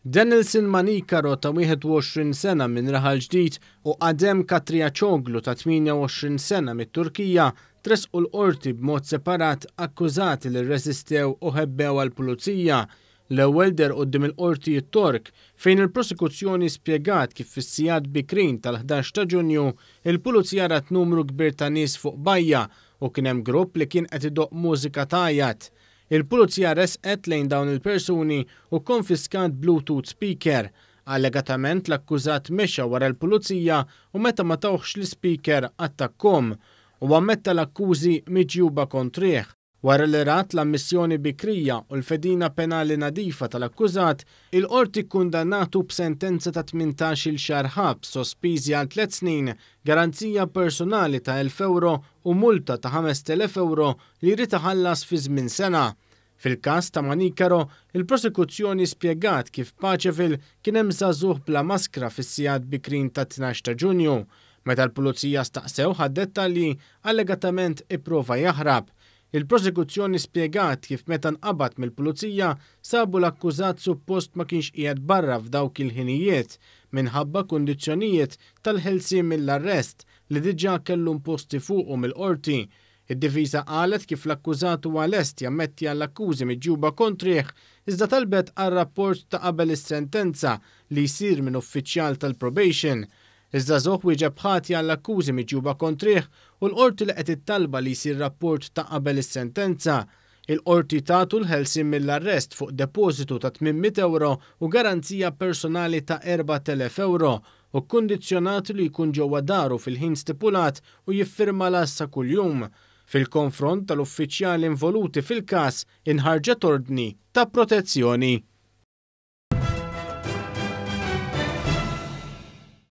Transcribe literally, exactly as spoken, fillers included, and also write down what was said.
Denilson Manicaro ta' wieħed u għoxrin sena minn Raħal Ġdid u Adem Katriaċoglu ta' tmienja u għoxrin sena mit-Turkija tressqu l-qorti b'mod separat, akkużati li rreżistew u ħebbew għall-pulizija. L-ewwel deher quddiem il-qorti t-Tork, fejn il-prosekuzzjoni spjegat kif fis-sigħat bikrin tal-ħdax ta' Ġunju il-pulizija rat numru kbir ta' nies fuq bajja u kien hemm grupp li kien qed idoqq mużika tgħajjat. Il-pulizija resqet lejn dawn il-persuni u konfiskat Bluetooth speaker. Allegatament l-akkużat mexa wara l-pulizija u meta ma tawhx l-speaker attakkom u ammetta l-akkużi miġjuba kontrih. Wara li rat l-ammissjoni bikrija u l-fedina penali nadifa tal-akkużat, il-qorti kundannatu b'sentenza ta' tmintax-il xahar ħabs sospiżi għal tliet snin, garanzija personali ta' elf euro u multa ta' ħamest elef euro li jrid iħallas fi żmien sena. Fil-każ ta' Manicaro, il-prosekuzzjoni spjegat kif Paceville kien hemm żagħżugħ bla maskra fis-sigħat bikrin ta' tnax ta' Ġunju. Meta l-pulizija staqsew għad-dettalji, allegatament ipprova jaħrab. Il-prosekuzzjoni spjegat kif meta nqabad mill-pulizija sabu l-akkużat suppost ma kienx qiegħed barra f'dawk il-ħinijiet minħabba kundizzjonijiet tal-ħelsien mill-arrest li diġà kellu imposti fuqu mill-qorti. Id-difiża qalet kif l-akkużat huwa lest jammetti għall-akkużi miġjuba kontrih, iżda talbet għal rapport ta' qabel is-sentenza li jsir minn uffiċjal tal-probation. Iż-żagħżugħ wieġeb ħati għall-akkużi miġjuba kontrih u l-qorti laqgħet it-talba li jsir rapport ta' qabel is-sentenza. Il-qorti tatu l-ħelsien mill-arrest fuq depożitu ta' tmien mitt euro u garanzija personali ta' erbat elef euro u kondizjonat li jkun ġewwa daru fil-ħin stipulat u jiffirma l-għassa kuljum. Fil-konfront tal-uffiċjali involuti fil-każ inħarġet ordni ta' protezzjoni.